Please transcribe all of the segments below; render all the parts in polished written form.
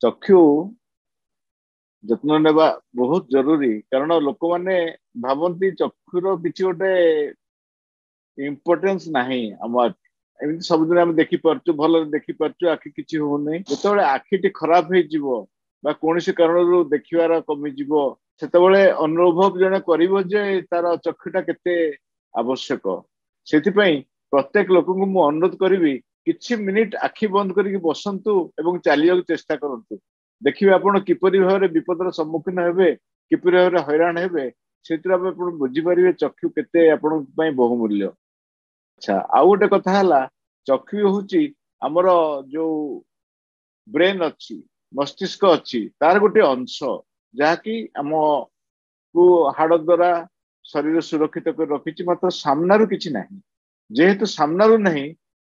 ଚକ୍ଷୁ ଯତ୍ନ ନେବା ବହୁତ ଜରୁରୀ, କାରଣ ଲୋକମାନେ ଭାବନ୍ତି ଚକ୍ଷୁର କିଛି ଗୋଟେ ଇମ୍ପୋର୍ଟାନ୍ସ ନାହିଁ। ଆମ ଏମିତି ସବୁଦିନ ଆମେ ଦେଖିପାରୁଛୁ, ଭଲରେ ଦେଖିପାରୁଛୁ, ଆଖି କିଛି ହଉନି। ଯେତେବେଳେ ଆଖିଟି ଖରାପ ହେଇଯିବ ବା କୌଣସି କାରଣରୁ ଦେଖିବାର କମିଯିବ, ସେତେବେଳେ ଅନୁଭବ ଜଣେ କରିବ ଯେ ତାର ଚକ୍ଷୁଟା କେତେ ଆବଶ୍ୟକ। ସେଥିପାଇଁ ପ୍ରତ୍ୟେକ ଲୋକଙ୍କୁ ମୁଁ ଅନୁରୋଧ କରିବି, କିଛି ମିନିଟ ଆଖି ବନ୍ଦ କରିକି ବସନ୍ତୁ ଏବଂ ଚାଲିବାକୁ ଚେଷ୍ଟା କରନ୍ତୁ। ଦେଖିବେ ଆପଣ କିପରି ଭାବରେ ବିପଦର ସମ୍ମୁଖୀନ ହେବେ, କିପରି ଭାବରେ ହଇରାଣ ହେବେ। ସେଥିରୁ ଆପଣ ବୁଝିପାରିବେ ଚକ୍ଷୁ କେତେ ଆପଣଙ୍କ ପାଇଁ ବହୁମୂଲ୍ୟ। ଆଚ୍ଛା, ଆଉ ଗୋଟେ କଥା ହେଲା, ଚକ୍ଷୁ ହଉଛି ଆମର ଯୋଉ ବ୍ରେନ୍ ଅଛି, ମସ୍ତିଷ୍କ ଅଛି, ତାର ଗୋଟେ ଅଂଶ, ଯାହାକି ଆମକୁ ହାଡ଼ ଦ୍ଵାରା ଶରୀର ସୁରକ୍ଷିତ କରି ରଖିଛି। ମାତ୍ର ସାମ୍ନାରୁ କିଛି ନାହିଁ। ଯେହେତୁ ସାମ୍ନାରୁ ନାହିଁ,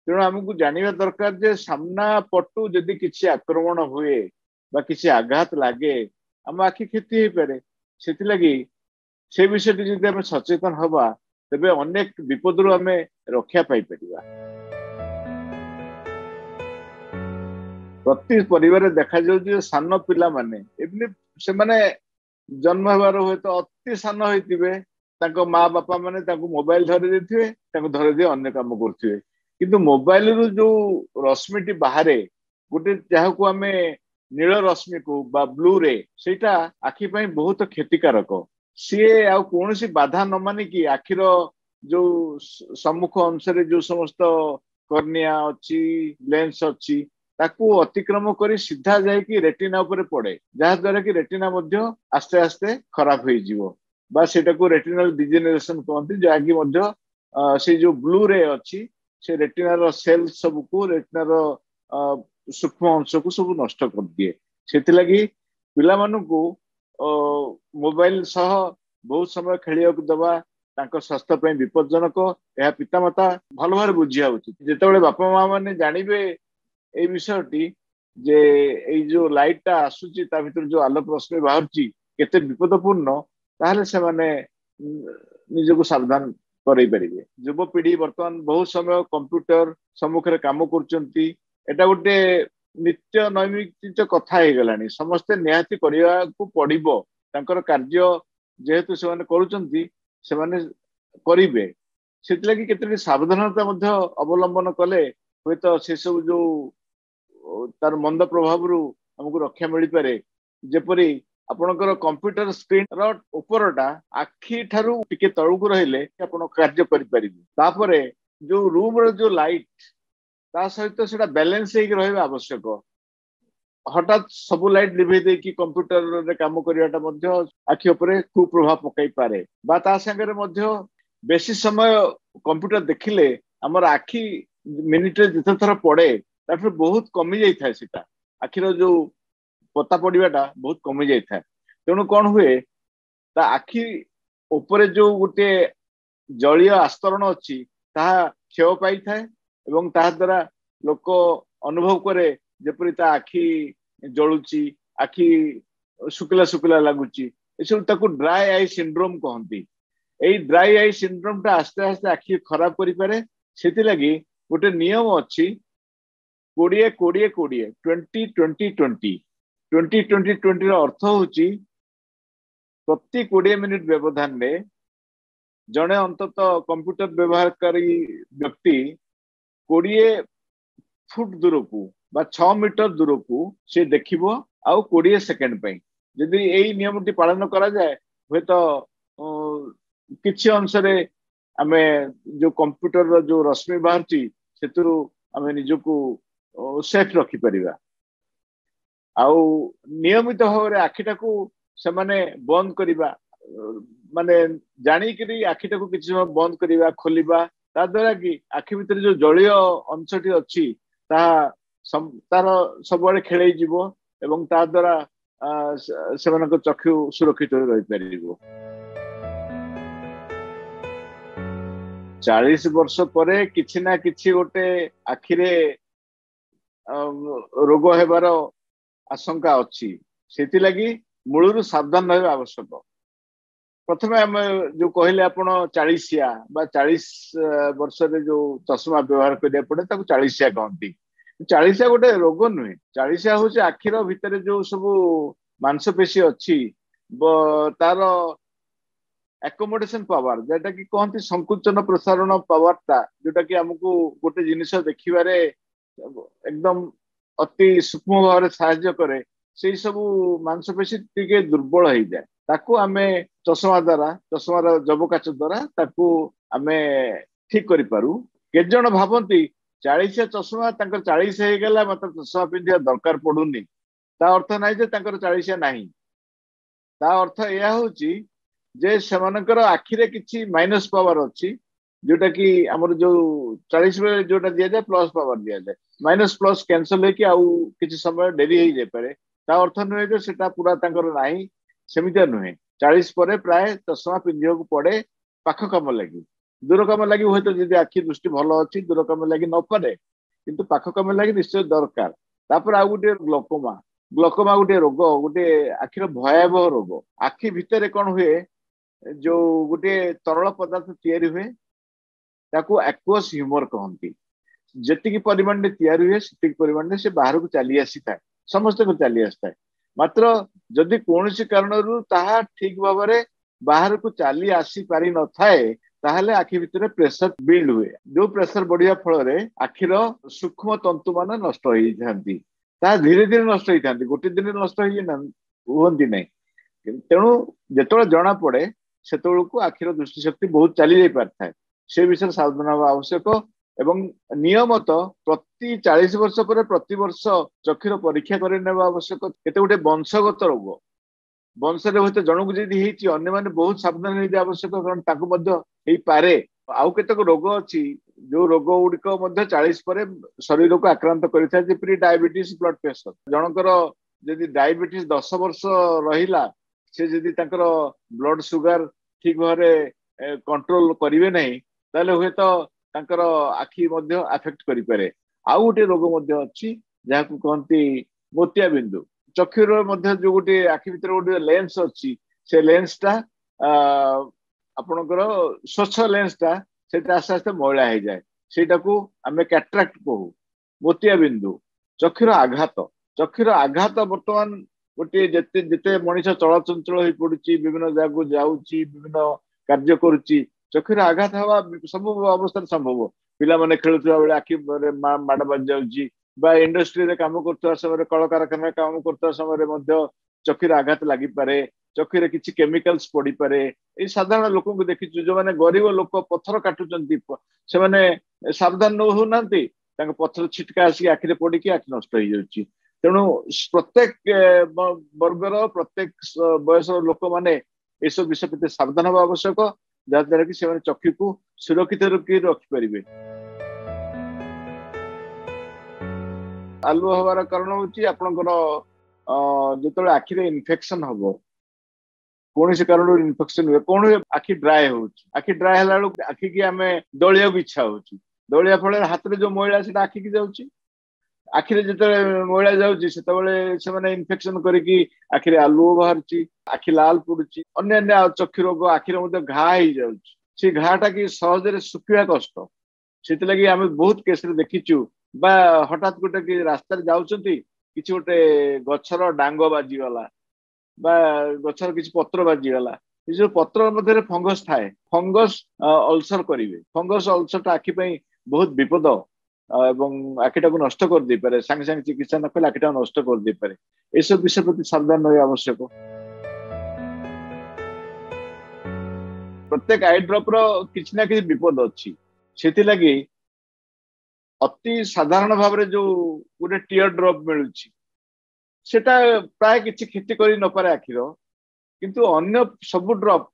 ତେଣୁ ଆମକୁ ଜାଣିବା ଦରକାର ଯେ ସାମ୍ନା ପଟୁ ଯଦି କିଛି ଆକ୍ରମଣ ହୁଏ ବା କିଛି ଆଘାତ ଲାଗେ, ଆମ ଆଖି କ୍ଷତି ହେଇପାରେ। ସେଥିଲାଗି ସେ ବିଷୟରେ ଯଦି ଆମେ ସଚେତନ ହବା, ତେବେ ଅନେକ ବିପଦରୁ ଆମେ ରକ୍ଷା ପାଇପାରିବା। ପ୍ରତି ପରିବାରରେ ଦେଖାଯାଉଛି ଯେ ସାନ ପିଲାମାନେ, ଏମିତି ସେମାନେ ଜନ୍ମ ହେବାର ହୁଏତ ଅତି ସାନ ହେଇଥିବେ, ତାଙ୍କ ମା ବାପା ମାନେ ତାଙ୍କୁ ମୋବାଇଲ ଧରେଇ ଦେଇଥିବେ, ତାଙ୍କୁ ଧରେଇ ଦେଇ ଅନ୍ୟ କାମ କରୁଥିବେ। କିନ୍ତୁ ମୋବାଇଲରୁ ଯୋଉ ରଶ୍ମିଟି ବାହାରେ ଗୋଟେ, ଯାହାକୁ ଆମେ ନୀଳ ରଶ୍ମି କହୁ ବା ବ୍ଲୁ ରେ, ସେଇଟା ଆଖି ପାଇଁ ବହୁତ କ୍ଷତିକାରକ। ସିଏ ଆଉ କୌଣସି ବାଧା ନ ମାନିକି ଆଖିର ଯୋଉ ସମ୍ମୁଖ ଅଂଶରେ ଯୋଉ ସମସ୍ତ କର୍ନିଆ ଅଛି, ଲେନ୍ସ ଅଛି, ତାକୁ ଅତିକ୍ରମ କରି ସିଧା ଯାଇକି ରେଟିନା ଉପରେ ପଡେ, ଯାହା ଦ୍ୱାରା କି ରେଟିନା ମଧ୍ୟ ଆସ୍ତେ ଆସ୍ତେ ଖରାପ ହେଇଯିବ ବା ସେଇଟାକୁ ରେଟିନାଲ ଡିଜେନେରେସନ କହନ୍ତି, ଯାହାକି ମଧ୍ୟ ସେଇ ଯୋଉ ବ୍ଲୁ ରେ ଅଛି ସେ ରେଟିନାର ସେଲ୍ ସବୁକୁ, ରେଟିନାର ସୂକ୍ଷ୍ମ ଅଂଶକୁ ସବୁ ନଷ୍ଟ କରିଦିଏ। ସେଥିଲାଗି ପିଲାମାନଙ୍କୁ ମୋବାଇଲ ସହ ବହୁତ ସମୟ ଖେଳିବାକୁ ଦବା ତାଙ୍କ ସ୍ୱାସ୍ଥ୍ୟ ପାଇଁ ବିପଦଜନକ। ଏହା ପିତାମାତା ଭଲ ଭାବରେ ବୁଝିବା ଉଚିତ। ଯେତେବେଳେ ବାପା ମା ମାନେ ଜାଣିବେ ଏଇ ବିଷୟଟି, ଯେ ଏଇ ଯୋଉ ଲାଇଟ ଟା ଆସୁଛି, ତା ଭିତରୁ ଯୋଉ ଆଲୋକ ରଶ୍ମି ବାହାରୁଛି କେତେ ବିପଦପୂର୍ଣ୍ଣ, ତାହେଲେ ସେମାନେ ନିଜକୁ ସାବଧାନ କରେଇ ପାରିବେ। ଯୁବପିଢି ବର୍ତ୍ତମାନ ବହୁତ ସମୟ କମ୍ପ୍ୟୁଟର ସମ୍ମୁଖରେ କାମ କରୁଛନ୍ତି। ଏଇଟା ଗୋଟେ ନିତ୍ୟ ନୈମିତ୍ତିକ କଥା ହେଇଗଲାଣି, ସମସ୍ତେ ନିହାତି କରିବାକୁ ପଡିବ। ତାଙ୍କର କାର୍ଯ୍ୟ ଯେହେତୁ ସେମାନେ କରୁଛନ୍ତି, ସେମାନେ କରିବେ। ସେଥିଲାଗି କେତେଟି ସାବଧାନତା ମଧ୍ୟ ଅବଲମ୍ବନ କଲେ ହୁଏତ ସେସବୁ ଯୋଉ ତାର ମନ୍ଦ ପ୍ରଭାବରୁ ଆମକୁ ରକ୍ଷା ମିଳିପାରେ। ଯେପରି ଆପଣଙ୍କର କମ୍ପ୍ୟୁଟର ସ୍କ୍ରିନ ର ଉପରଟା ଆଖି ଠାରୁ ଟିକେ ତଳକୁ ରହିଲେ ଆପଣ କାର୍ଯ୍ୟ କରିପାରିବେ। ତାପରେ ଯୋଉ ରୁମ ର ଯୋଉ ଲାଇଟ, ତା ସହିତ ସେଟା ବାଲାନ୍ସ ହେଇକି ରହିବା ଆବଶ୍ୟକ। ହଠାତ୍ ସବୁ ଲାଇଟ ଲିଭେଇ ଦେଇକି କମ୍ପ୍ୟୁଟରରେ କାମ କରିବାଟା ମଧ୍ୟ ଆଖି ଉପରେ କୁପ୍ରଭାବ ପକାଇ ପାରେ। ବା ତା ସାଙ୍ଗରେ ମଧ୍ୟ ବେଶୀ ସମୟ କମ୍ପ୍ୟୁଟର ଦେଖିଲେ ଆମର ଆଖି ମିନିଟରେ ଯେତେ ଥର ପଡେ ତାଠାରୁ ବହୁତ କମି ଯାଇଥାଏ। ସେଟା ଆଖିର ଯୋଉ ପତା ପଡିବାଟା ବହୁତ କମି ଯାଇଥାଏ। ତେଣୁ କଣ ହୁଏ, ତା ଆଖି ଉପରେ ଯୋଉ ଗୋଟେ ଜଳୀୟ ଆସ୍ତରଣ ଅଛି ତାହା କ୍ଷୟ ପାଇଥାଏ ଏବଂ ତାହା ଦ୍ୱାରା ଲୋକ ଅନୁଭବ କରେ ଯେପରି ତା ଆଖି ଜଳୁଛି, ଆଖି ଶୁଖିଲା ଶୁଖିଲା ଲାଗୁଛି। ଏସବୁ ତାକୁ ଡ୍ରାଏ I syndrome କହନ୍ତି। ଏଇ ଡ୍ରାଇ I syndrome ଟା ଆସ୍ତେ ଆସ୍ତେ ଆଖି ଖରାପ କରିପାରେ। ସେଥିଲାଗି ଗୋଟେ ନିୟମ ଅଛି, 20 20 20, 20 20 20। 20 20 20ର ଅର୍ଥ ହଉଛି ପ୍ରତି 20 ମିନିଟ ବ୍ୟବଧାନରେ ଜଣେ ଅନ୍ତତଃ କମ୍ପ୍ୟୁଟର ବ୍ୟବହାରକାରୀ ବ୍ୟକ୍ତି 20 ଫୁଟ ଦୂରକୁ ବା 6 ମିଟର ଦୂରକୁ ସେ ଦେଖିବ, ଆଉ 20 ସେକେଣ୍ଡ ପାଇଁ। ଯଦି ଏଇ ନିୟମଟି ପାଳନ କରାଯାଏ, ହୁଏତ କିଛି ଅଂଶରେ ଆମେ ଯୋଉ କମ୍ପ୍ୟୁଟରର ଯୋଉ ରଶ୍ମି ବାହାରୁଛି ସେଥିରୁ ଆମେ ନିଜକୁ ସେଫ୍ ରଖିପାରିବା। ଆଉ ନିୟମିତ ଭାବରେ ଆଖିଟାକୁ ସେମାନେ ବନ୍ଦ କରିବା, ମାନେ ଜାଣିକିରି ଆଖିଟାକୁ କିଛି ସମୟ ବନ୍ଦ କରିବା, ଖୋଲିବା, ତା ଦ୍ୱାରା କି ଆଖି ଭିତରେ ଯୋଉ ଜଳୀୟ ଅଂଶଟି ଅଛି ତାହା ତାର ସବୁଆଡେ ଖେଳେଇ ଯିବ ଏବଂ ତା ଦ୍ୱାରା ସେମାନଙ୍କ ଚକ୍ଷୁ ସୁରକ୍ଷିତ ରହିପାରିବ। 40 ବର୍ଷ ପରେ କିଛି ନା କିଛି ଗୋଟେ ଆଖିରେ ରୋଗ ହେବାର ଆଶଙ୍କା ଅଛି। ସେଥିଲାଗି ମୂଳରୁ ସାବଧାନ ରହିବା ଆବଶ୍ୟକ। ପ୍ରଥମେ ଆମେ ଯୋଉ କହିଲେ ଆପଣ ଚାଳିଶିଆ ବା 40 ବର୍ଷରେ ଯୋଉ ଚଷମା ବ୍ୟବହାର କରିବାକୁ ପଡେ ତାକୁ ଚାଳିଶିଆ କହନ୍ତି। ଚାଳିଶିଆ ଗୋଟେ ରୋଗ ନୁହେଁ। ଚାଳିଶିଆ ହଉଛି ଆଖିର ଭିତରେ ଯୋଉ ସବୁ ମାଂସପେଶୀ ଅଛି ତାର ଆକୋମୋଡେସନ ପାୱାର, ଯୋଉଟା କି କହନ୍ତି ସଂକୁଚନ ପ୍ରସାରଣ ପାୱାର ଟା, ଯୋଉଟା କି ଆମକୁ ଗୋଟେ ଜିନିଷ ଦେଖିବାରେ ଏକଦମ ଅତି ସୂକ୍ଷ୍ମ ଭାବରେ ସାହାଯ୍ୟ କରେ, ସେଇ ସବୁ ମାଂସପେଶୀ ଟିକେ ଦୁର୍ବଳ ହେଇଯାଏ। ତାକୁ ଆମେ ଚଷମା ଦ୍ଵାରା, ଚଷମାର ଯବକାଚ ଦ୍ଵାରା ତାକୁ ଆମେ ଠିକ କରିପାରୁ। କେତେ ଜଣ ଭାବନ୍ତି ଚାଳିଶିଆ ଚଷମା ତାଙ୍କର 40 ହେଇଗଲା ମାତ୍ର ଚଷମା ପିନ୍ଧିବା ଦରକାର ପଡୁନି। ତା ଅର୍ଥ ନାହିଁ ଯେ ତାଙ୍କର ଚାଳିଶିଆ ନାହିଁ। ତା ଅର୍ଥ ଏହା ହଉଛି ଯେ ସେମାନଙ୍କର ଆଖିରେ କିଛି ମାଇନସ ପାୱାର ଅଛି, ଯୋଉଟା କି ଆମର ଯୋଉ 40 ବେଳେ ଯୋଉଟା ଦିଆଯାଏ ପ୍ଲସ ପାୱାର ଦିଆଯାଏ, ମାଇନସ ପ୍ଲସ କ୍ୟାନସଲ ହେଇକି ଆଉ କିଛି ସମୟ ଡେରି ହେଇଯାଇପାରେ। ତା ଅର୍ଥ ନୁହେଁ ଯେ ସେଟା ପୁରା ତାଙ୍କର ନାହିଁ, ସେମିତିଆ ନୁହେଁ। 40 ପରେ ପ୍ରାୟ ଚଷମା ପିନ୍ଧିବାକୁ ପଡେ ପାଖ କାମ ଲାଗି। ଦୂର କାମ ଲାଗି ହୁଏତ ଯଦି ଆଖି ଦୃଷ୍ଟି ଭଲ ଅଛି ଦୂର କାମ ଲାଗି ନପାରେ, କିନ୍ତୁ ପାଖ କାମ ଲାଗି ନିଶ୍ଚୟ ଦରକାର। ତାପରେ ଆଉ ଗୋଟେ ଗ୍ଲୋକୋମା। ଗ୍ଲୋକୋମା ଗୋଟେ ରୋଗ, ଗୋଟେ ଆଖିର ଭୟାବହ ରୋଗ। ଆଖି ଭିତରେ କଣ ହୁଏ, ଯୋଉ ଗୋଟେ ତରଳ ପଦାର୍ଥ ତିଆରି ହୁଏ, ତାକୁ ଆକ୍ୱସ୍ ହ୍ୟୁମର କହନ୍ତି। ଯେତିକି ପରିମାଣରେ ତିଆରି ହୁଏ ସେତିକି ପରିମାଣରେ ସେ ବାହାରକୁ ଚାଲି ଆସିଥାଏ, ସମସ୍ତଙ୍କୁ ଚାଲି ଆସିଥାଏ। ମାତ୍ର ଯଦି କୌଣସି କାରଣରୁ ତାହା ଠିକ ଭାବରେ ବାହାରକୁ ଚାଲି ଆସି ପାରିନଥାଏ, ତାହେଲେ ଆଖି ଭିତରେ ପ୍ରେସର ବିଲ୍ଡ ହୁଏ। ଯୋଉ ପ୍ରେସର ବଢିବା ଫଳରେ ଆଖିର ସୂକ୍ଷ୍ମ ତନ୍ତୁ ମାନେ ନଷ୍ଟ ହେଇଥାନ୍ତି। ତାହା ଧୀରେ ଧୀରେ ନଷ୍ଟ ହେଇଥାନ୍ତି, ଗୋଟେ ଦିନରେ ନଷ୍ଟ ହେଇ ହୁଅନ୍ତି ନାହିଁ। ତେଣୁ ଯେତେବେଳେ ଜଣା ପଡେ ସେତେବେଳକୁ ଆଖିର ଦୃଷ୍ଟିଶକ୍ତି ବହୁତ ଚାଲି ଯାଇ ପାରିଥାଏ। ସେ ବିଷୟରେ ସାବଧାନ ହେବା ଆବଶ୍ୟକ। ଏବଂ ନିୟମତ ପ୍ରତି 40 ବର୍ଷ ପରେ ପ୍ରତିବର୍ଷ ଚକ୍ଷୁର ପରୀକ୍ଷା କରି ନେବା ଆବଶ୍ୟକ। କେତେ ଗୋଟେ ବଂଶଗତ ରୋଗ, ବଂଶରେ ହୁଏତ ଜଣକୁ ଯଦି ହେଇଛି ଅନ୍ୟମାନେ ବହୁତ ସାବଧାନ ହେଇଯିବା ଆବଶ୍ୟକ, କାରଣ ତାକୁ ମଧ୍ୟ ହେଇପାରେ। ଆଉ କେତେକ ରୋଗ ଅଛି ଯୋଉ ରୋଗ ଗୁଡିକ ମଧ୍ୟ 40 ପରେ ଶରୀରକୁ ଆକ୍ରାନ୍ତ କରିଥାଏ, ଯେପରି ଡାଇବେଟିସ୍, ବ୍ଲଡ ପ୍ରେସର। ଜଣଙ୍କର ଯଦି ଡାଇବେଟିସ୍ 10 ବର୍ଷ ରହିଲା, ସେ ଯଦି ତାଙ୍କର ବ୍ଲଡ ସୁଗାର ଠିକ ଭାବରେ କଣ୍ଟ୍ରୋଲ କରିବେ ନାହିଁ, ତାହେଲେ ହୁଏତ ତାଙ୍କର ଆଖି ମଧ୍ୟ ଆଫେକ୍ଟ କରିପାରେ। ଆଉ ଗୋଟେ ରୋଗ ମଧ୍ୟ ଅଛି ଯାହାକୁ କହନ୍ତି ମୋତିଆ ବିନ୍ଦୁ। ଚକ୍ଷୁର ମଧ୍ୟ ଯୋଉ ଗୋଟେ ଆଖି ଭିତରେ ଗୋଟେ ଲେନ୍ସ ଅଛି, ସେ ଲେନ୍ସ ଟା ଆପଣଙ୍କର ସ୍ୱଚ୍ଛ ଲେନ୍ସ ଟା ସେଇଟା ଆସ୍ତେ ଆସ୍ତେ ମଇଳା ହେଇଯାଏ, ସେଇଟାକୁ ଆମେ କ୍ୟାଟ୍ରାକ୍ଟ କହୁ, ମୋତିଆ ବିନ୍ଦୁ। ଚକ୍ଷୁର ଆଘାତ, ଚକ୍ଷୁର ଆଘାତ ବର୍ତ୍ତମାନ ଗୋଟିଏ ଯେତେ ଯେତେ ମଣିଷ ଚଳଚଞ୍ଚଳ ହେଇ ପଡୁଛି, ବିଭିନ୍ନ ଜାଗାକୁ ଯାଉଛି, ବିଭିନ୍ନ କାର୍ଯ୍ୟ କରୁଛି, ଚକ୍ଷୁର ଆଘାତ ହବା ସବୁ ଅବସ୍ଥାରେ ସମ୍ଭବ। ପିଲାମାନେ ଖେଳୁଥିବା ବେଳେ ଆଖି ମାଡ ବାଜି ଯାଉଛି, ବା ଇଣ୍ଡଷ୍ଟ୍ରିରେ କାମ କରୁଥିବା ସମୟରେ, କଳକାରଖାନାରେ କାମ କରୁଥିବା ସମୟରେ ମଧ୍ୟ ଚକ୍ଷୁର ଆଘାତ ଲାଗିପାରେ, ଚକ୍ଷୁରେ କିଛି କେମିକାଲ୍ସ ପଡିପାରେ। ଏଇ ସାଧାରଣ ଲୋକଙ୍କୁ ଦେଖିଛୁ ଯୋଉମାନେ ଗରିବ ଲୋକ ପଥର କାଟୁଛନ୍ତି, ସେମାନେ ସାବଧାନ ନ ହଉନାହାନ୍ତି, ତାଙ୍କ ପଥର ଛିଟକା ଆସିକି ଆଖିରେ ପଡିକି ଆଖି ନଷ୍ଟ ହେଇଯାଉଛି। ତେଣୁ ପ୍ରତ୍ୟେକ ବର୍ଗର ପ୍ରତ୍ୟେକ ବୟସର ଲୋକମାନେ ଏସବୁ ବିଷୟ ପ୍ରତି ସାବଧାନ ହେବା ଆବଶ୍ୟକ, ଯାହାଦ୍ୱାରା କି ସେମାନେ ଚକ୍ଷୁକୁ ସୁରକ୍ଷିତ ରଖିପାରିବେ। ଆଲୁଅ ହବାର କାରଣ ହଉଛି ଆପଣଙ୍କର ଯେତେବେଳେ ଆଖିରେ ଇନଫେକ୍ସନ ହବ, କୌଣସି କାରଣରୁ ଇନଫେକ୍ସନ ହୁଏ, କଣ ହୁଏ, ଆଖି ଡ୍ରାଏ ହଉଛି। ଆଖି ଡ୍ରାଏ ହେଲା ବେଳକୁ ଆଖିକି ଆମେ ଦଳିବାକୁ ଇଚ୍ଛା ହଉଛି, ଦଳିବା ଫଳରେ ହାତରେ ଯୋଉ ମଇଳା ସେଟା ଆଖିକି ଯାଉଛି। ଆଖିରେ ଯେତେବେଳେ ମଇଳା ଯାଉଛି ସେତେବେଳେ ସେମାନେ ଇନଫେକ୍ସନ କରିକି ଆଖିରେ ଆଲୁଅ ବାହାରୁଛି, ଆଖି ଲାଲ ପଡୁଛି, ଅନ୍ୟାନ୍ୟ ଚକ୍ଷୁ ରୋଗ, ଆଖିରେ ମଧ୍ୟ ଘା ହେଇଯାଉଛି। ସେ ଘାଟା କି ସହଜରେ ଶୁଖିବା କଷ୍ଟ। ସେଥିଲାଗି ଆମେ ବହୁତ କେସରେ ଦେଖିଛୁ, ବା ହଠାତ୍ ଗୋଟେ କି ରାସ୍ତାରେ ଯାଉଛନ୍ତି, କିଛି ଗୋଟେ ଗଛର ଡାଙ୍ଗ ବାଜିଗଲା ବା ଗଛର କିଛି ପତ୍ର ବାଜିଗଲା, ଏ ଯୋଉ ପତ୍ର ମଧ୍ୟରେ ଫଙ୍ଗସ ଥାଏ, ଫଙ୍ଗସ ଅଲସର କରିବେ। ଫଙ୍ଗସ ଅଲସରଟା ଆଖି ପାଇଁ ବହୁତ ବିପଦ ଏବଂ ଆଖିଟାକୁ ନଷ୍ଟ କରିଦେଇପାରେ। ସାଙ୍ଗେ ସାଙ୍ଗେ ଚିକିତ୍ସା ନ କଲେ ଆଖିଟାକୁ ନଷ୍ଟ କରିଦେଇପାରେ। ଏସବୁ ବିଷୟ ପ୍ରତି ସାବଧାନ ରହିବା ଆବଶ୍ୟକ। ପ୍ରତ୍ୟେକ I drop ର କିଛି ନା କିଛି ବିପଦ ଅଛି। ସେଥିଲାଗି ଅତି ସାଧାରଣ ଭାବରେ ଯୋଉ ଗୋଟେ ଟିୟର ଡ୍ରପ୍ ମିଳୁଛି, ସେଟା ପ୍ରାୟ କିଛି କ୍ଷତି କରି ନପାରେ ଆଖିର, କିନ୍ତୁ ଅନ୍ୟ ସବୁ ଡ୍ରପ୍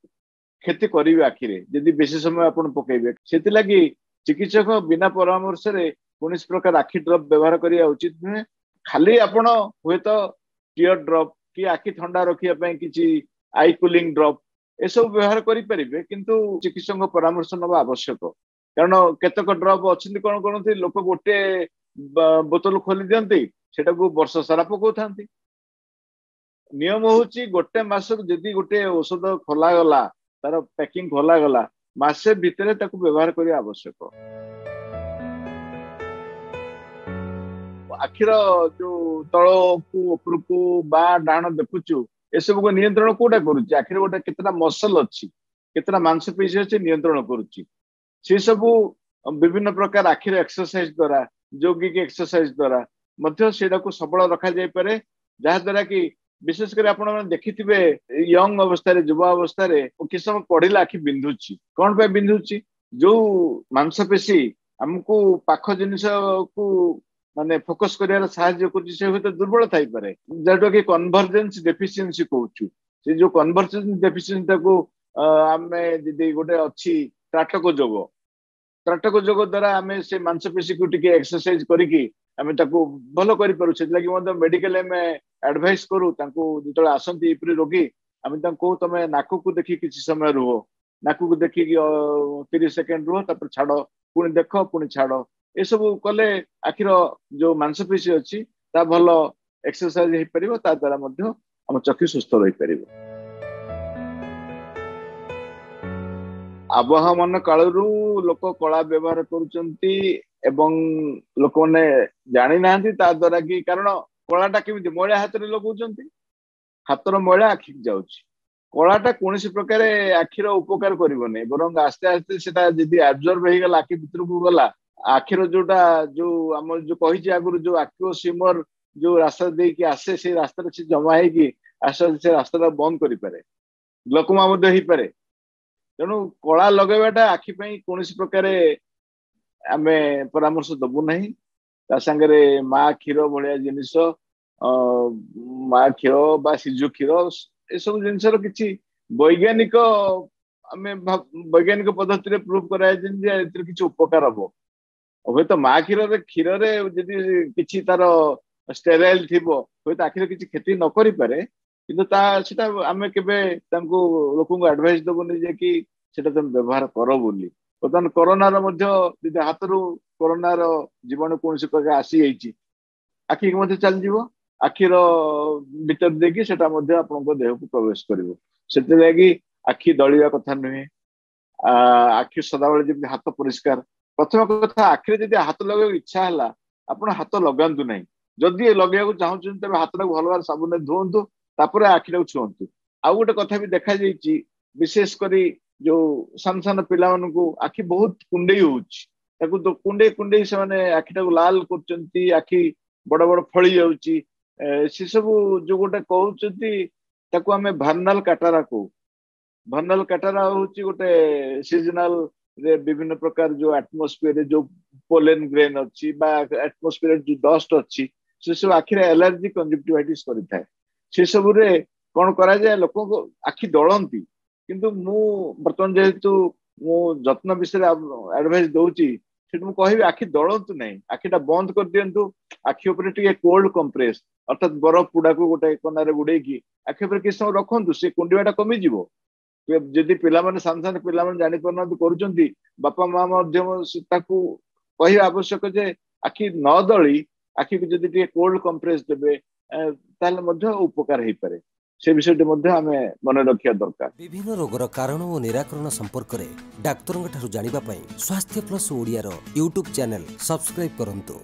କ୍ଷତି କରିବେ ଆଖିରେ ଯଦି ବେଶୀ ସମୟ ଆପଣ ପକେଇବେ। ସେଥିଲାଗି ଚିକିତ୍ସକ ବିନା ପରାମର୍ଶରେ କୌଣସି ପ୍ରକାର ଆଖି ଡ୍ରପ୍ ବ୍ୟବହାର କରିବା ଉଚିତ ନୁହେଁ। ଖାଲି ଆପଣ ହୁଏତ ଟିୟର ଡ୍ରପ୍ କି ଆଖି ଥଣ୍ଡା ରଖିବା ପାଇଁ କିଛି I cooling drop ଏସବୁ ବ୍ୟବହାର କରିପାରିବେ, କିନ୍ତୁ ଚିକିତ୍ସକଙ୍କ ପରାମର୍ଶ ନେବା ଆବଶ୍ୟକ। କାରଣ କେତେକ ଡ୍ରପ୍ ଅଛନ୍ତି କଣ କରନ୍ତି, ଲୋକ ଗୋଟେ ବୋତଲ ଖୋଲି ଦିଅନ୍ତି, ସେଟାକୁ ବର୍ଷ ସାରା ପକଉଥାନ୍ତି। ନିୟମ ହଉଛି ଗୋଟେ ମାସରୁ ଯଦି ଗୋଟେ ଔଷଧ ଖୋଲାଗଲା, ତାର ପ୍ୟାକିଂ ଖୋଲାଗଲା, ମାସେ ଭିତରେ ତାକୁ ବ୍ୟବହାର କରିବା ଆବଶ୍ୟକ। ଆଖିର ଯୋଉ ତଳକୁ ଉପରକୁ ବା ଡାହାଣ ଦେଖୁଛୁ, ଏସବୁକୁ ନିୟନ୍ତ୍ରଣ କୋଉଟା କରୁଛି? ଆଖିର ଗୋଟେ କେତେଟା ମସଲ ଅଛି, କେତେଟା ମାଂସପେଶୀ ଅଛି ନିୟନ୍ତ୍ରଣ କରୁଛି। ସେ ସବୁ ବିଭିନ୍ନ ପ୍ରକାର ଆଖିର ଏକ୍ସରସାଇଜ ଦ୍ଵାରା, ଯୌଗିକ ଏକ୍ସରସାଇଜ ଦ୍ଵାରା ମଧ୍ୟ ସେଇଟାକୁ ସବଳ ରଖାଯାଇପାରେ। ଯାହାଦ୍ୱାରା କି ବିଶେଷ କରି ଆପଣ ମାନେ ଦେଖିଥିବେ ୟଙ୍ଗ ଅବସ୍ଥାରେ, ଯୁବା ଅବସ୍ଥାରେ କିଛି ସମୟ ପଢିଲେ ଆଖି ବିନ୍ଧୁଛି। କଣ ପାଇଁ ବିନ୍ଧୁଛି? ଯୋଉ ମାଂସପେଶୀ ଆମକୁ ପାଖ ଜିନିଷକୁ ମାନେ ଫୋକସ କରିବାର ସାହାଯ୍ୟ କରୁଛି, ସେ ହୁଏତ ଦୁର୍ବଳ ଥାଇପାରେ, ଯୋଉଟା କି କନଭରଜେନ୍ସ ଡେଫିସିଏନ୍ସି କହୁଛୁ। ସେ ଯୋଉ କନଭରଜେନ୍ସ ଡେଫିସିଏନ୍ସି ଟାକୁ ଆମେ ଯଦି ଗୋଟେ ଅଛି ତ୍ରାଟକ ଯୋଗ, ତ୍ରାଟକ ଯୋଗ ଦ୍ଵାରା ଆମେ ସେ ମାଂସପେଶୀକୁ ଟିକେ ଏକ୍ସରସାଇଜ କରିକି ଆମେ ତାକୁ ଭଲ କରିପାରୁ। ସେଥିଲାଗି ମଧ୍ୟ ମେଡିକାଲ ଆମେ ଆଡଭାଇସ କରୁ ତାଙ୍କୁ, ଯେତେବେଳେ ଆସନ୍ତି ଏପରି ରୋଗୀ, ଆମେ ତାଙ୍କୁ କହୁ ତମେ ନାକକୁ ଦେଖି କିଛି ସମୟ ରୁହ, ନାକକୁ ଦେଖିକି 30 ସେକେଣ୍ଡ ରୁହ, ତାପରେ ଛାଡ, ପୁଣି ଦେଖ, ପୁଣି ଛାଡ। ଏସବୁ କଲେ ଆଖିର ଯୋଉ ମାଂସପେଶୀ ଅଛି ତା ଭଲ ଏକ୍ସରସାଇଜ ହେଇପାରିବ, ତା ଦ୍ଵାରା ମଧ୍ୟ ଆମ ଚକ୍ଷୁ ସୁସ୍ଥ ରହିପାରିବ। ଆବହମାନ କାଳରୁ ଲୋକ କଳା ବ୍ୟବହାର କରୁଛନ୍ତି ଏବଂ ଲୋକମାନେ ଜାଣିନାହାନ୍ତି ତା ଦ୍ଵାରା କି, କାରଣ କଳାଟା କେମିତି ମଇଳା ହାତରେ ଲଗାଉଛନ୍ତି, ହାତର ମଇଳା ଆଖିକି ଯାଉଛି। କଳାଟା କୌଣସି ପ୍ରକାରେ ଆଖିର ଉପକାର କରିବନି, ବରଂ ଆସ୍ତେ ଆସ୍ତେ ସେଟା ଯଦି ଆବଜର୍ବ ହେଇଗଲା, ଆଖି ଭିତରକୁ ଗଲା, ଆଖିର ଯୋଉଟା ଯୋଉ ଆମର ଯୋଉ କହିଛି ଆଗରୁ ଯୋଉ ଆକ୍ୟୁଅସ୍ ହ୍ୟୁମର ଯୋଉ ରାସ୍ତା ଦେଇକି ଆସେ, ସେଇ ରାସ୍ତାରେ ସେ ଜମା ହେଇକି ଆସ୍ତେ ଆସ୍ତେ ସେ ରାସ୍ତାଟା ବନ୍ଦ କରିପାରେ, ଗ୍ଲୋକୋମା ମଧ୍ୟ ହେଇପାରେ। ତେଣୁ କଳା ଲଗେଇବାଟା ଆଖି ପାଇଁ କୌଣସି ପ୍ରକାରେ ଆମେ ପରାମର୍ଶ ଦବୁ ନାହିଁ। ତା ସାଙ୍ଗରେ ମା କ୍ଷୀର ଭଳିଆ ଜିନିଷ, ମା କ୍ଷୀର ବା ଶିଶୁ କ୍ଷୀର, ଏସବୁ ଜିନିଷର କିଛି ବୈଜ୍ଞାନିକ ଆମେ ବୈଜ୍ଞାନିକ ପଦ୍ଧତିରେ ପ୍ରୁଭ କରାଯାଇଛି ଯେ ଏଥିରେ କିଛି ଉପକାର ହବ। ହୁଏତ ମା କ୍ଷୀରରେ ଯଦି କିଛି ତାର ଷ୍ଟେରାଇଲ ଥିବ, ହୁଏତ ଆଖିରେ କିଛି କ୍ଷତି ନ କରିପାରେ, କିନ୍ତୁ ତା ସେଟା ଆମେ କେବେ ତାଙ୍କୁ ଲୋକଙ୍କୁ ଆଡଭାଇସ ଦବୁନି ଯେ କି ସେଟା ତମେ ବ୍ୟବହାର କର ବୋଲି। ବର୍ତ୍ତମାନ କରୋନାର ମଧ୍ୟ ଯଦି ହାତରୁ କରୋନାର ଜୀବାଣୁ କୌଣସି ପ୍ରକାର ଆସିଯାଇଛି, ଆଖିକି ମଧ୍ୟ ଚାଲିଯିବ, ଆଖିର ଭିତର ଦେଇକି ସେଟା ମଧ୍ୟ ଆପଣଙ୍କ ଦେହକୁ ପ୍ରବେଶ କରିବ। ସେଥିଲାଗି ଆଖି ଦଳିବା କଥା ନୁହେଁ। ଆଖି ସଦାବେଳେ ଯେମିତି ହାତ ପରିଷ୍କାର। ପ୍ରଥମ କଥା, ଆଖିରେ ଯଦି ହାତ ଲଗେଇବାକୁ ଇଚ୍ଛା ହେଲା, ଆପଣ ହାତ ଲଗାନ୍ତୁ ନାହିଁ। ଯଦି ଲଗେଇବାକୁ ଚାହୁଁଛନ୍ତି ତେବେ ହାତଟାକୁ ଭଲ ଭାବରେ ସାବୁନରେ ଧୁଅନ୍ତୁ, ତାପରେ ଆଖିଟାକୁ ଛୁଅନ୍ତୁ। ଆଉ ଗୋଟେ କଥା ବି ଦେଖାଯାଇଛି, ବିଶେଷ କରି ଯୋଉ ସାନ ସାନ ପିଲାମାନଙ୍କୁ ଆଖି ବହୁତ କୁଣ୍ଡେଇ ହଉଛି, ତାକୁ କୁଣ୍ଡେଇ କୁଣ୍ଡେଇ ସେମାନେ ଆଖିଟାକୁ ଲାଲ କରୁଛନ୍ତି, ଆଖି ବଡ ବଡ ଫଳି ଯାଉଛି। ସେସବୁ ଯୋଉ ଗୋଟେ କହୁଛନ୍ତି ତାକୁ ଆମେ ଭର୍ନାଲ କାଟାରା କହୁ। ଭର୍ନାଲ କାଟାରା ହଉଛି ଗୋଟେ ସିଜନାଲ ରେ ବିଭିନ୍ନ ପ୍ରକାର ଯୋଉ ଆଟମୋସ୍ଫିୟରରେ ଯୋଉ ପୋଲେନ ଗ୍ରେନ୍ ଅଛି ବା ଆଟମୋସ୍ଫିୟରରେ ଯୋଉ ଡଷ୍ଟ ଅଛି, ସେସବୁ ଆଖିରେ ଆଲର୍ଜି କଞ୍ଜକ୍ଟିଭାଇଟିସ୍ କରିଥାଏ। ସେସବୁରେ କଣ କରାଯାଏ, ଲୋକଙ୍କ ଆଖି ଦଳନ୍ତି। କିନ୍ତୁ ମୁଁ ବର୍ତ୍ତମାନ ଯେହେତୁ ମୁଁ ଯତ୍ନ ବିଷୟରେ ଆଡଭାଇସ ଦଉଛି, ସେଠୁ ମୁଁ କହିବି ଆଖି ଦଳନ୍ତୁ ନାହିଁ, ଆଖିଟା ବନ୍ଦ କରିଦିଅନ୍ତୁ। ଆଖି ଉପରେ ଟିକେ କୋଲ୍ଡ କମ୍ପ୍ରେସ, ଅର୍ଥାତ ବରଫ ପୁଡାକୁ ଗୋଟେ କନାରେ ଗୁଡେଇକି ଆଖି ଉପରେ କିଛି ସମୟ ରଖନ୍ତୁ, ସେ କୁଣ୍ଡିବାଟା କମିଯିବ। ଯଦି ପିଲାମାନେ, ସାନ ସାନ ପିଲାମାନେ ଜାଣିପାରୁନାହାନ୍ତି କରୁଛନ୍ତି, ବାପା ମା ମଧ୍ୟ ତାକୁ କହିବା ଆବଶ୍ୟକ ଯେ ଆଖି ନ ଦଳି ଆଖିକୁ ଯଦି ଟିକେ କୋଲ୍ଡ କମ୍ପ୍ରେସ ଦେବେ, ତାହେଲେ ମଧ୍ୟ ଉପକାର ହେଇପାରେ। ସେ ବିଷୟଟି ମଧ୍ୟ ଆମେ ମନେ ରଖିବା ଦରକାର। ବିଭିନ୍ନ ରୋଗର କାରଣ ଓ ନିରାକରଣ ସମ୍ପର୍କରେ ଡାକ୍ତରଙ୍କ ଠାରୁ ଜାଣିବା ପାଇଁ ସ୍ୱାସ୍ଥ୍ୟ ପ୍ଲସ୍ ଓଡ଼ିଆର ୟୁଟ୍ୟୁବ୍ ଚ୍ୟାନେଲ ସବସ୍କ୍ରାଇବ୍ କରନ୍ତୁ।